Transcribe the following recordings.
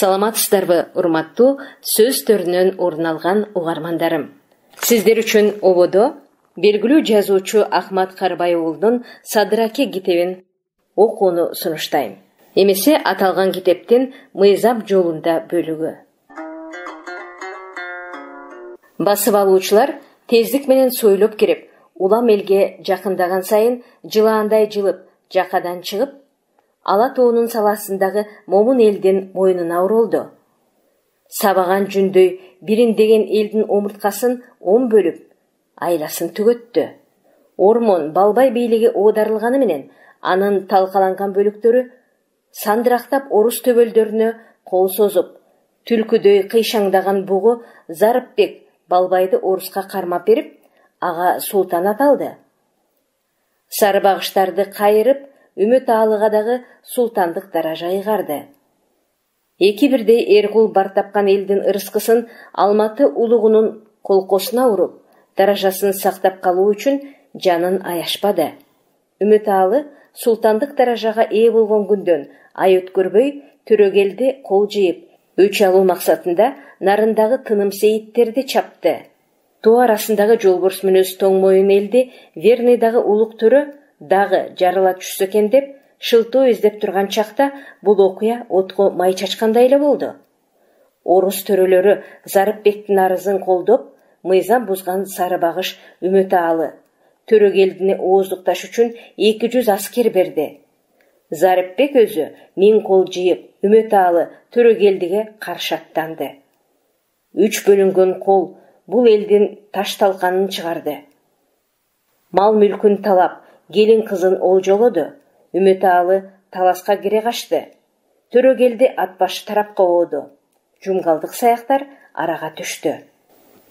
Саламатсыздарбы, урматтуу сөз төрүнөн орун алган угармандарым. Сиздер үчүн ободо белгилүү жазуучу Ахмат Карбай уулунун Садыраке китебин окууну сунуштайм. Эмесе аталган китептин Мыйзам жолунда бөлүгү. Басып алуучулар тездик менен сойлоп кирип, улам элге жакындаган сайын жылаандай жылып, жакадан чыгып, Ала тоонун саласындагы момун элдин мойнуна уролду. Сабаган жүндөй бириндеген элдин омурткасын 10 бөлүп, айласын түгөттү. Ормон Балбай бийлиги оодарылганы менен, анын талкаланган бөлүктөрү сандырактап орус төбөлдөрүнө кол созуп, түлкүдөй кыйшаңдаган бугу Зарыпбек Балбайды оруска кармап берип, ага султан аталды. Сары багыштарды кайырып, Үмөт Аалыга дагы султандык даража ыйгарды. Эки бирдей эркул бар тапкан элдин ырыскысын Алматы улугунун колкосуна уруп, даражасын сактап калуу үчүн жанын аяшпады. Үмөт Аалы султандык даражага ээ болгон күндөн ай өткөрбөй Төрөгелди кол жыйып, өч алуу максатында нарындагы тыным сейиттерди чапты. Тоо арасындагы жолборс мүнөз тоң моюн элди Верныйдагы улук төрө дагы жарыла түшсө экен деп шылтоо издеп турган чакта бул окуя отко май чачкандай эле болду. Орус төрөлөрү Зарыпбектин арызын колдоп, мыйзам бузган сары багыш Үмөт Аалы Төрөгелдини ооздукташ үчүн 200 аскер берди. Зарыпбек өзү 1000 кол жыйып, Үмөт Аалы Төрөгелдиге каршы аттанды. 3 бөлүнгөн кол бул элдин таш талканын чыгарды. Мал мүлкүн талап, келин кызын олжолоду. Үмөт Аалы таласка кире качты. Төрөгелди ат башы тарапка ооду. Жумгалдык саяктар арага түштү.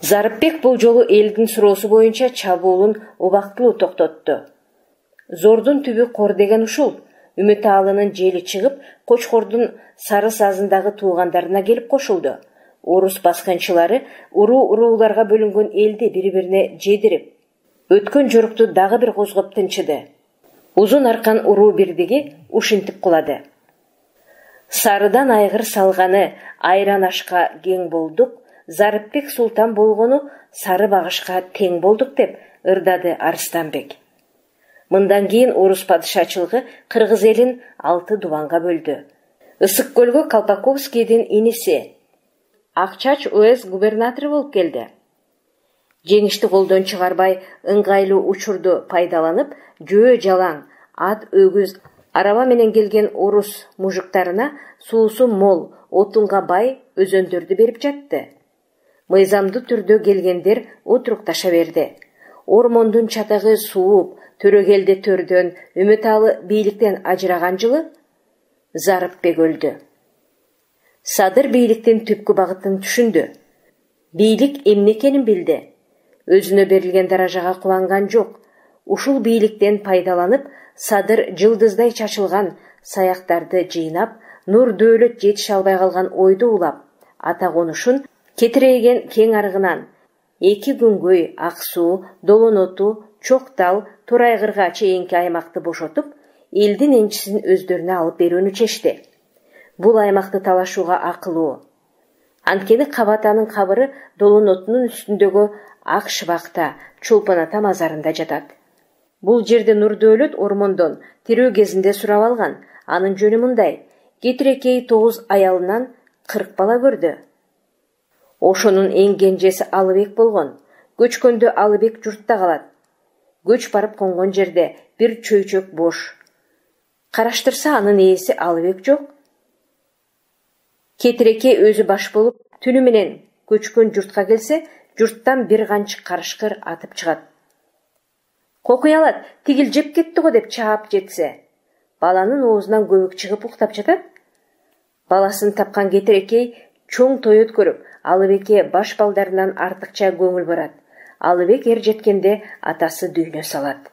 Зарыпбек бул жолу элдин суроосу боюнча чабуулун убактылуу токтотту. Зордун түбү кор деген ушул. Үмөт Аалынын жели чыгып, Кочкордун Сары Сазындагы туугандарына келип кошулду. Орус баскынчылары уруу-урууларга бөлүнгөн элди бири-бирине жедирип, өткөн жорукту дагы бир козгоп тынчыды. Узун аркан уруу бирдиги ушинтип кулады. Сарыдан айгыр салганы айран ашка кең болдук, Зарыпбек султан болгону сары багышка тең болдук деп ырдады Арыстанбек. Мындан кийин орус падышачылыгы кыргыз элин 6 дубанга бөлдү. Ысык көлгө Колпаковскийдин иниси Акчач уез губернатору болуп келди. Жеңишти колдон чыгарбай, ыңгайлуу учурду пайдаланып, жөө жалаң, ат, өгүз, араба менен келген орус мужиктарына суусу мол, отунга бай өзөндөрдү берип жатты. Мыйзамдуу түрдө келгендер отурукташа берди. Ормондун чатагы сууп, Төрөгелди төрдөн, Үмөт Аалы бийликтен ажыраган жылы Зарыпбек өлдү. Садыр бийликтин түпкү багытын түшүндү. Бийлик эмне экенин билди. Өзүнө берилген даражага куланган жок. Ушул бийликтен пайдаланып, Садыр жылдыздай чачылган саяктарды жыйнап, нур дөөлөт жетише албай калган ойду улап, ата конушун кетирейген кең арыгынан 2 күнгөй Ак суу, Долон оту, Чоктал, Торайгырга чейинки аймакты бошотуп, элдин энчисин өздөрүнө алып берүүнү чечти. Бул аймакты талашууга акылуу. Анткени Кабатанын кабыры Долон отунун үстүндөгү Ак Шыбакта, Чолпон ата мазарында жатат. Бул жерде нур дөөлөт ормондон тирөө кезинде сурап алган. Анын жөнү мындай: Кетирекей 9 аялынан 40 бала көрдү. Ошонун эң кенжеси Алыбек болгон. Көчкөндө Алыбек журтта калат. Көч барып конгон жерде бир чөйчөк бош. Караштырса анын ээси Алыбек жок. Кетиреке өзү баш болуп, түнү менен көчкөн журтка келсе, журттан бир канчы карышкыр атып чыгат. Кокуй алат, тигил жеп кетти го деп чаап жетсе, баланын оозунан көбүк чыгып уктап жатат. Баласын тапкан Кетирекей чоң той өткөрүп, Алыбекке баш балдарынан артыкча көңүл барат. Алыбек эр жеткенде атасы дүйнө салат.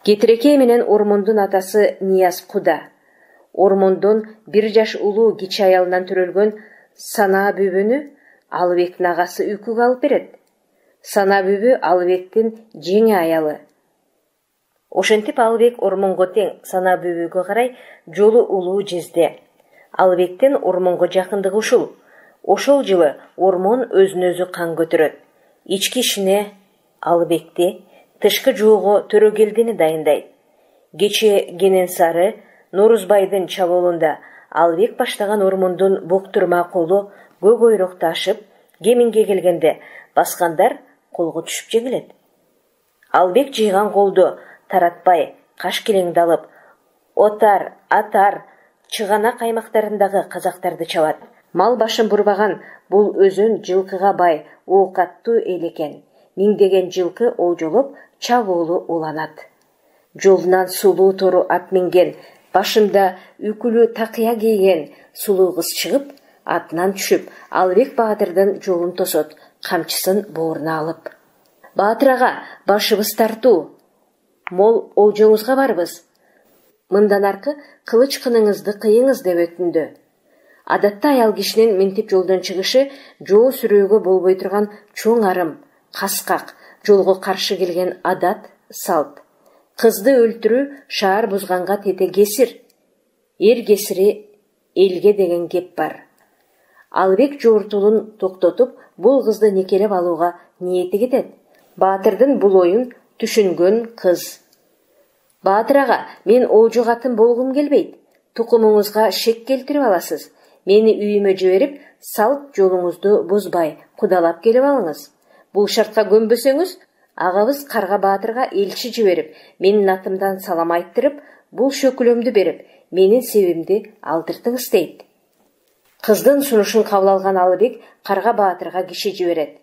Кетирекей менен Ормондун атасы Нияз Куда. Ормондон 1 жаш улуу кичи аялынан төрөлгөн Сана бүбөнү Алыбектин агасы үйкүгө алып берет. Сана бүбө Алыбектин жеңи аялы. Ошентип Алыбек Ормонго тең Сана бүбөгө карай жолу улуу жезде. Алыбектин ормонго жакындыгы ушул. Ошол жылы ормон өзүн өзү кан көтөрөт. Ички ишине Алыбекти, тышкы жоого Төрөгелдини дайындайт. Кече Кененсары, Норузбайдын чабуулунда Алыбек баштаган ормондун буктурма колу көк ойрокто ашып, кеминге келгенде баскандар колго түшүп жеңилет. Алыбек жыйган колду таратпай, каш келеңди алып, отар, атар, чыганак аймактарындагы казактарды чабат. Мал башын бурбаган бул өзүн жылкыга бай, оокаттуу эл экен. Миңдеген жылкы олжолоп, чабуулу уланат. Жолунан сулуу тору ат минген, башында үкүлүү такыя кийген сулуу кыз чыгып, атынан түшүп, Алыбек баатырдын жолун тосот, камчысын бооруна алып. Баатыр ага, башыбыз тартуу, мол олжоңузга барбыз. Мындан аркы кылыч кыныңызды кыйыңыз деп өтүндү. Адатта аял кишинин минтип жолдон чыгышы жоо сүрөөгө болбой турган чоң арым, каскак, жолго каршы келген адат, салт. Кызды өлтүрүү шаар бузганга тете кесир. Эр кесири элге деген кеп бар. Алыбек жортулун токтотуп, бул кызды никелеп алууга ниети кетет. Баатырдын бул оюн түшүнгөн кыз: Баатыр ага, мен олжо катын болгум келбейт. Тукумуңузга шек келтирип аласыз. Мени үйүмө жиберип, салт жолуңузду бузбай, кудалап келип алыңыз. Бул шартка көнбөсөңүз, агабыз Карга Баатырга элчи жиберип, менин атымдан салам айттырып, бул шөкүлөмдү берип, менин себимди алдыртыңыз дейт. Кыздын сунушун кабыл алган Алыбек Карга Баатырга киши жиберет.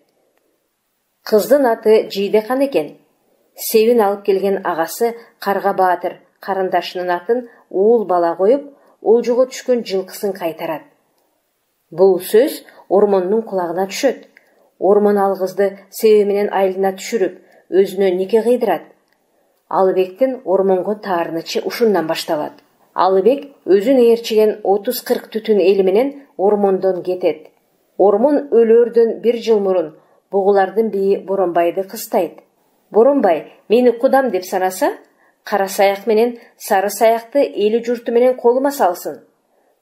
Кыздын аты Жийдехан экен. Себин алып келген агасы Карга Баатыр карындашынын атын уул бала коюп, олжого түшкөн жылкысын кайтарат. Бул сөз ормондун кулагына түшөт. Ормон ал кызды себи менен айылына түшүрүп, өзүнө нике кыйдырат. Алыбектин ормонго таарынычы ушундан башталат. Алыбек өзүн ээрчиген 30-40 түтүн эли менен ормондон кетет. Ормон өлөөрдөн бир жыл мурун бугулардын бийи Боронбайды кыстайт. Боронбай мени кудам деп санаса, кара саяк менен сары саякты эли журту менен колума салсын.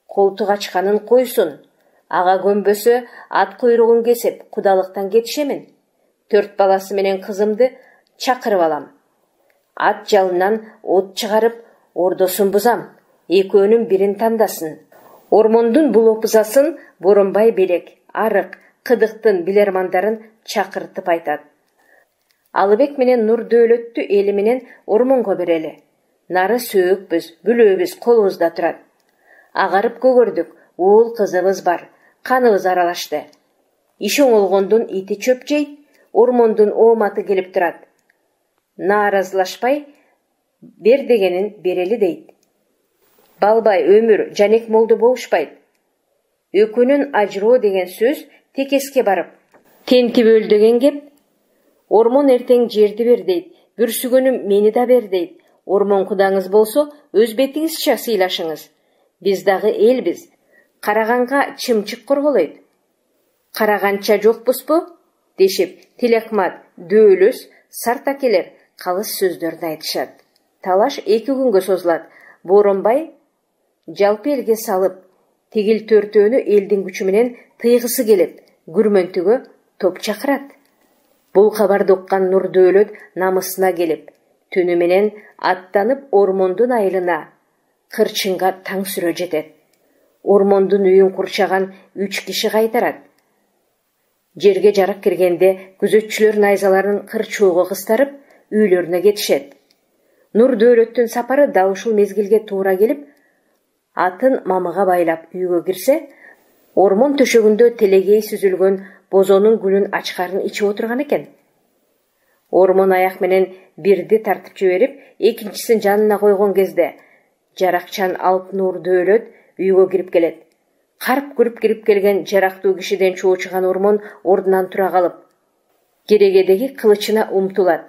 Колтук ачканын койсун. Ага көнбөсө ат куйругун кесип, кудалыктан кетишемин. 4 баласы менен кызымды чакырып алам. Ат жалынан от чыгарып, ордосун бузам. Экөөнүн бирин тандасын. Ормондун бул опузасын Боронбай белек, арык, кыдыктын билермандарын чакыртып айтат. Алыбек менен Нурдөөлөттү эли менен ормонго берели. Нары сөөкпүз, бүлөбүз колубузда турат. Агарып көгөрдүк, уул кызыбыз бар, каныбыз аралашты. Иш оңолгондун ити чөп жейт, ормондун ооматы келип турат. Нааразылашпай бер дегенин берели дейт. Балбай, өмүр, жанек молду болушпайт. Өкүнүн ажыроо деген сөз текеске барып, тентип өл деген кеп. Ормон эртең жерди бер дейт, бүрсүгөнүм мени да бер дейт. Ормон кудаңыз болсо, өз бетиңизче сыйлашыңыз. Биз дагы элбиз. Караганга чымчык корголойт. Караганча жокпузбу? Дешип, Тилекмат, Дөөлөс, Сартакелер калыс сөздөрдү айтышат. Талаш 2 күнгө созулат. Боронбай жалпы элге салып, тигил төртөөнү элдин күчү менен тыйгысы келип, күрмөнтүгө топ чакырат. Бул кабарды уккан Нурдөөлөт намысына келип, түнү менен аттанып ормондун айылына, кырчынга таң сүрө жетет. Ормондун үйүн курчаган 3 киши кайтарат. Жерге жарак киргенде күзөтчүлөр найзаларын кырчоого кыстарып, үйлөрүнө кетишет. Нурдөөлөттүн сапары дал ушул мезгилге туура келип, атын мамыга байлап үйгө кирсе, ормон төшөгүндө телегей сүзүлгөн бозонун гүлүн ачкарын ичип отурган экен. Ормон аяк менен бирди тартып жиберип, экинчисин жанына койгон кезде жаракчан алып Нурдөөлөт үйгө кирип келет. Карп күрүп кирип келген жарактуу кишиден чоочуган ормон ордунан тура калып, керегедеги кылычына умтулат.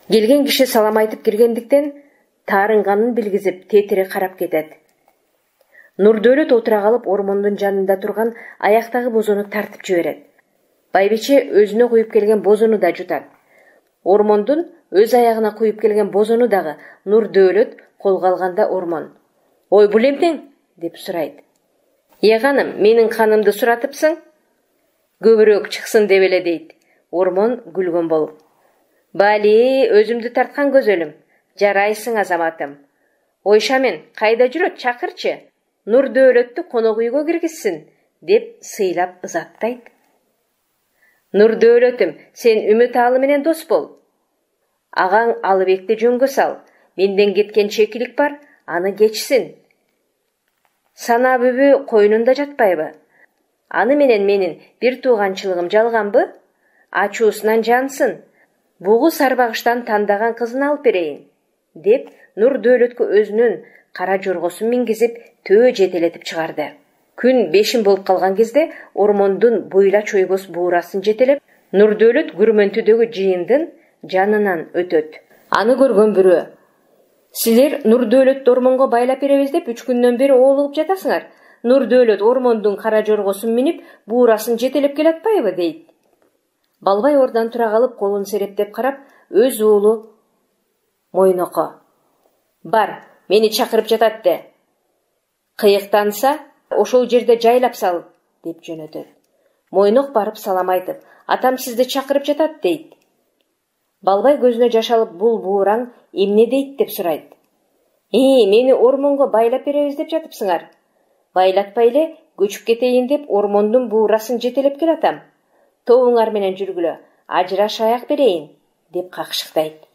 Келген киши салам айтып киргендиктен таарынганын билгизип тетире карап кетет. Нурдөөлөт отура калып ормондун жанында турган аяктагы бозону тартып жиберет. Байбиче өзүнө куюп келген бозону да жутат. Ормондун өз аягына куюп келген бозону дагы Нурдөөлөт колго алганда ормон: "Ой, бул эмнең?" деп сурайт. Ханым, менин канымды суратыпсың? Көбүрөөк чыксын деп эле дейт. Ормон күлгөн болуп. Бали, өзүмдү тарткан көзөлүм. Жарайсың азаматым. Ойшамен, кайда жүрөт, чакырчы. Нурдөөлөттү конок үйгө киргизсин, деп сыйлап ызаттайт. Нурдөөлөтүм, сен Үмүталы менен дос бол. Агаң Алыбекти жөнгө сал. Менден кеткен чекилик бар, аны кечсин. Сана бүбү койнунда жатпайбы? Аны менен менин бир тууганчылыгым жалганбы? Ачуусунан жансын. Бугу сарбагыштан тандаган кызын алып берейин, деп Нурдөөлөткө өзүнүн кара жоргосун мингизип төө жетелетип чыгарды. Күн 5 болуп калган кезде ормондун буйла чойбос буурасын жетелеп, Нурдөөлөт Күрмөнтүдөгү жыйындын жанынан өтөт. Аны көргөн бирөө: "Силер Нурдөөлөттү ормонго байлап беребиз деп 3 күндөн бери оолугуп жатасыңар. Нурдөөлөт ормондун кара жоргосун минип, буурасын жетелеп келатпайбы?" дейт. Балбай ордон тура калып, колун серептеп карап, өз уулу Мойноко: "Бар, мени чакырып жатат де. Кыйыктанса, ошол жерде жайлап сал", деп жөнөтөт. Мойнок барып салам айтып: "Атам сизди чакырып жатат", дейт. Балбай көзүнө жаш алып, бул буураң эмне дейт деп сурайт. Мени ормонго байлап беребиз деп жатыпсыңар. Байлатпай эле көчүп кетейин деп ормондун буурасын жетелеп келатам. Тобуңар менен жүргүлө, ажыраш аяк берейин", деп какшыктайт.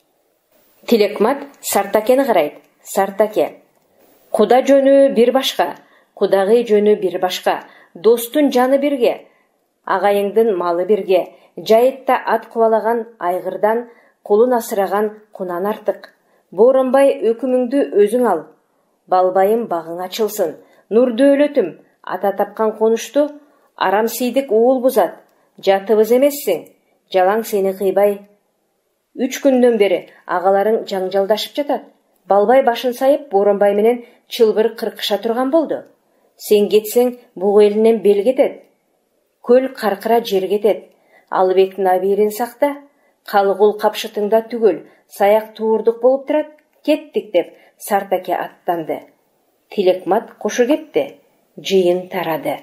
Тилекмат Сартакени карайт. Сартаке: "Куда жөнү бир башка, кудагый жөнү бир башка, достун жаны бирге, агайыңдын малы бирге, жайытта ат кубалаган айгырдан кулун асыраган кунан артык. Бооронбай өкүмүңдү өзүң ал. Балбайым багың ачылсын. Нурдөөлөтүм, ата тапкан конушту арам сийдик уул бузат. Жатыбыз эмессиң, жалаң сени кыйбай. 3 күндөн бери агаларың жаңжалдашып жатат. Балбай башын сайып, Бооронбай менен чылбыр кыркыша турган болду. Сен кетсең, бугу элинен бел кетет. Көл каркыра жер кетет. Алыбектин абийирин сакта. Калгул капшытыңда түгөл, саяк туурдук болуп турат. Кеттик", деп Сартаке аттанды. Тилекмат кошо кетти. Жыйын тарады.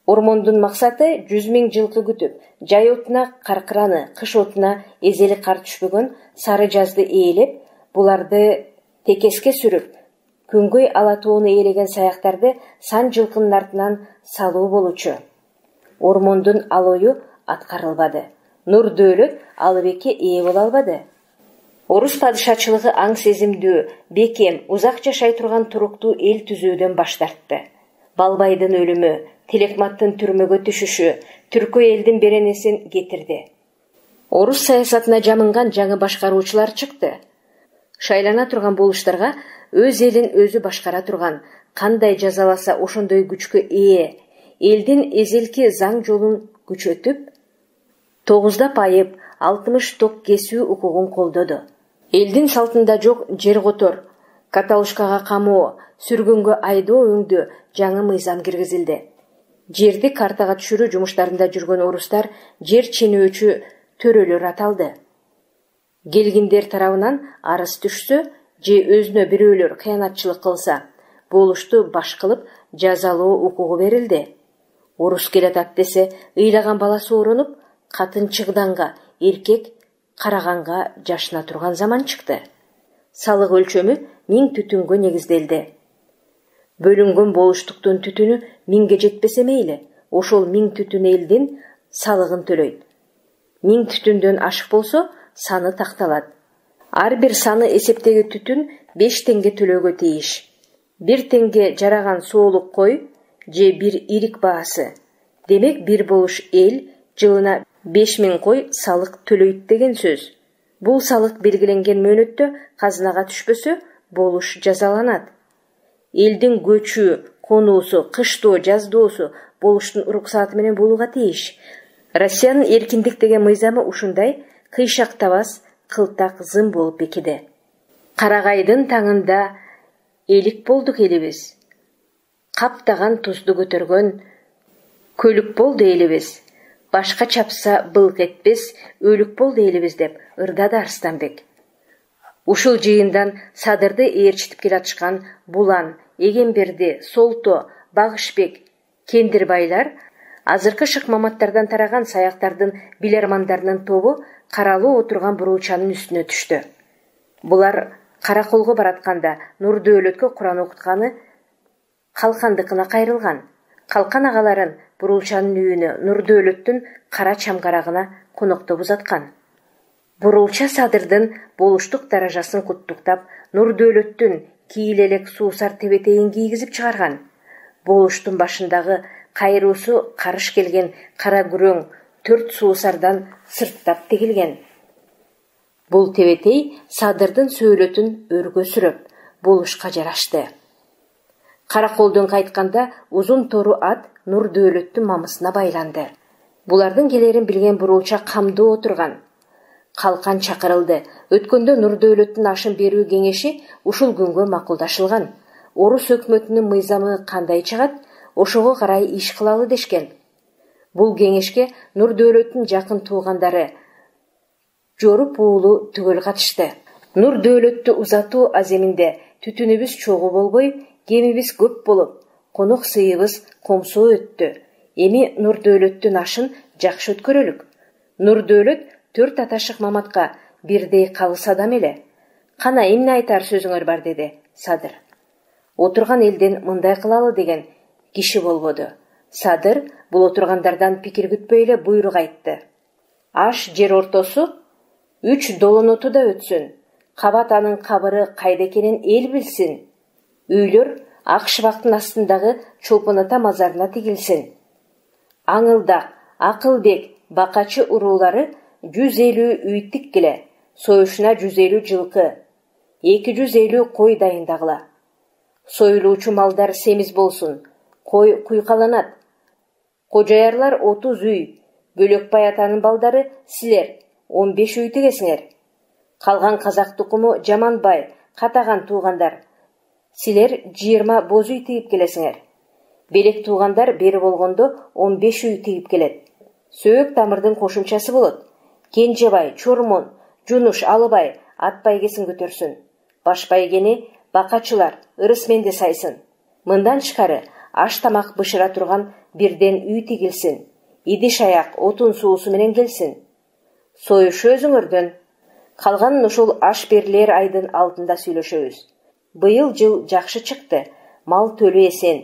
Ормондун максаты 100 000 жылкы күтүп, жай отуна каркыраны, кыш отуна эзели кар түшпөгөн сары жазды ээлеп, буларды текеске сүрүп, күнгөй ала тоону ээлеген саяктарды сан жылкынын артынан салуу болчу. Ормондун ал ою аткарылбады. Нурдөөлөт Алыбекке ээ боло албады. Орус падышачылыгы аң сезимдүү, бекем, узак жашай турган туруктуу эл түзүүдөн баш тартты. Балбайдын өлүмү, Тилекматтын түрмөгө түшүшү түркө элдин беренесин кетирди. Орус саясатына жамынган жаңы башкаруучулар чыкты. Шайлана турган болуштарга өз элин өзү башкара турган, кандай жазаласа ошондой күчкө ээ, элдин эзелки заң жолун күчөтүп, 9 айып, 60 ток кесүү укугун колдоду. Элдин салтында жок жер котор, каталушкага камоо, сүргөнгө айдоо өңдө жаңы мыйзам киргизилди. Жерди картага түшүрүү жумуштарында жүргөн орустар жер ченөөчү төрөлөр аталды. Келгиндер тарабынан арыз түшсө же өзүнө бирөөлөр кыянатчылык кылса, болушту баш кылып жазалоо укугу берилди. Орус келатат десе, ыйлаган баласы оронуп, катын чыгданга, эркек караганга жашына турган заман чыкты. Салык өлчөмү 1000 түтүнгө негизделди. Бөлүнгөн болуштуктун түтүнү 1000ге жетпесе мейли, ошол 1000 түтүн элдин салыгын төлөйт. 1000 түтүндөн ашык болсо, саны такталат. Ар бир саны эсептеги түтүн 5 теңге төлөөгө тийиш. 1 теңге жараган соолук кой же бир ирик баасы. Демек бир болуш эл жылына 5000 кой салык төлөйт деген сөз. Бул салык белгиленген мөөнөттө казынага түшпөсө, болуш жазаланат. Элдин көчү, конуусу, кыштоо, жаздоосу болуштун уруксааты менен болууга тийиш. Россиянын эркиндик деген мыйзамы ушундай кыйшактабас, кылтак, зым болуп бекиди. Карагайдын таңында элик болдук элибиз. Каптаган тузду көтөргөн көлүк болду элибиз. Башка чапса былк этпес, өлүк болду элибиз, деп ырдады Арстанбек. Ушул жыйындан Садырды ээрчитип келатышкан Булан, Эгемберди, Солто, Багышбек, Кендир байлар азыркы шыкмаматтардан тараган саяктардын билермандарынын тобу каралуу отурган бурулчанын үстүнө түштү. Булар Караколго баратканда Нурдөөлөткө Куран окутканы Калкандыкына кайрылган. Калкан агаларын бурулчанын үйүнө Нурдөөлөттүн кара чамгарагына конокто узаткан. Бурулча Садырдын болуштук даражасын куттуктап, Нурдөөлөттүн кийилелек суусар тебетейин кийгизип чыгарган. Болуштун башындагы кайруусу карыш келген кара күрөң 4 суусардан сырттап тегилген. Бул тебетей Садырдын сөөлөтүн өргө сүрөп, болушка жарашты. Караколдон кайтканда узун тору ат Нурдөөлөттүн мамысына байланды. Булардын келерин билген бурулча камдуу отурган. Калкан чакырылды. Өткөндө Нурдөөлөттүн ашын берүү кеңеши ушул күнгө макулдашылган. Орус өкмөтүнүн мыйзамы кандай чыгат, ошого карай иш кылалы дешкен. Бул кеңешке Нурдөөлөттүн жакын туугандары Жоруп уулу түгөл катышты. Нурдөөлөттү узатуу аземинде түтүнүбүз чогуу болбой, кемибиз көп болуп, конок сыйыбыз комсоо өттү. Эми Нурдөөлөттүн ашын жакшы өткөрөлүк. Нурдөөлөт 4 аташык Маматка бирдей калыс адам эле. Кана эмне айтар сөзүңөр бар, деди Садыр. Отурган элден мындай кылалы деген киши болбоду. Садыр бул отургандардан пикир күтпөй эле буйрук айтты. Аш жер ортосу 3 долонотуда өтсүн. Кабат анын кабыры кайда экенин эл билсин. Үйлөр ак шыбактын астындагы Чолпон ата мазарына тигилсин. Аңылдак, Акылбек, Бакачы уруулары 150 үй тиккиле, союшуна 150 жылкы, 250 кой дайындагыла. Союлуучу малдар семиз болсун, кой куйкаланат. Кожаярлар 30 үй, Бөлөкбай атанын балдары силер 15 үй тигесиңер. Калган казак тукуму Жаманбай, катаган туугандар, силер 20 боз үй тигип келесиңер. Белек туугандар бери болгондо 15 үй тигип келет. Сөөк тамырдын кошумчасы болот. Кенжебай, Чормон, Жунуш, Алыбай ат байгесин көтөрсүн. Баш байгени Бакачылар, ырысменде сайсын. Мындан тышкары аш тамак бышыра турган бирден үй тигилсин. Идиш аяк, отун суусу менен келсин. Союшу өзүңөрдөн. Калганын ушул аш берилер айдын алдында сүйлөшөбүз. Быйыл жыл жакшы чыкты. Мал төлү эсен.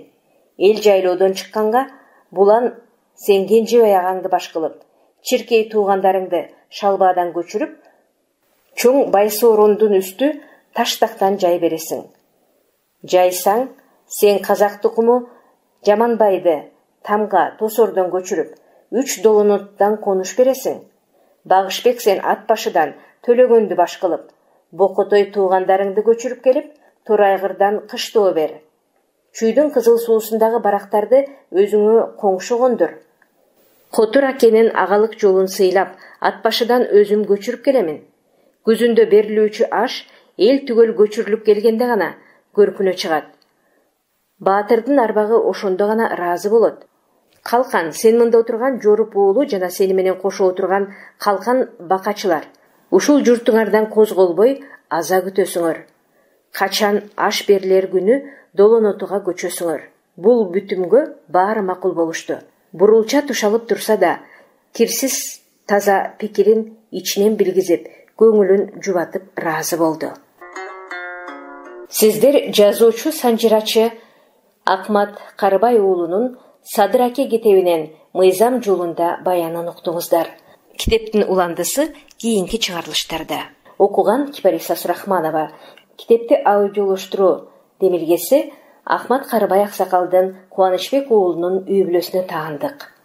Эл жайлоодон чыкканга булан сен Кенжебай агаңды баш кылып, чиркей туугандарыңды Шалбадан көчүрүп, чоң Байсоорундун үстү Таштактан жай бересиң. Жайсаң, сен казак тукуму Жаманбайды Тамга, Тосордон көчүрүп, 3 долоноттан конуш бересиң. Багышбек сен ат башыдан Төлөгөндү баш кылып, Бокотой туугандарыңды көчүрүп келип, Торайгырдан кыштоо бер. Чүйдүн кызыл суусундагы барактарды өзүңө коңшу кондур. Котур акенин агалык жолун сыйлап, ат башыдан өзүм көчүрүп келемин. Күзүндө берилүүчү аш эл түгөл көчүрүлүп келгенде гана көркүнө чыгат. Баатырдын арбагы ошондо гана ыраазы болот. Калкан, сен мында отурган Жоруп уулу жана сени менен кошо отурган Калкан Бакачылар. Ушул журтуңардан козголбой аза күтөсүңөр. Качан аш берилер күнү долонотуга көчөсүңөр. Бул бүтүмгө баары макул болушту. Бурулча тушалып турса да, кирсиз таза пикирин ичинен билгизип, көңүлүн жубатып ыраазы болду. Сиздер жазуучу санжырачы Акмат Карыбай уулунун Садыр аке китебинен Мыйзам жолунда баянын уктуңуздар. Китептин уландысы кийинки чыгарылыштарда. Окуган Кипариса Сурахманова. Китепти аудиолоштуруу демилгеси Акмат Карыбай аксакалдын Кубанычбек уулунун үй бүлөсүнө таандык.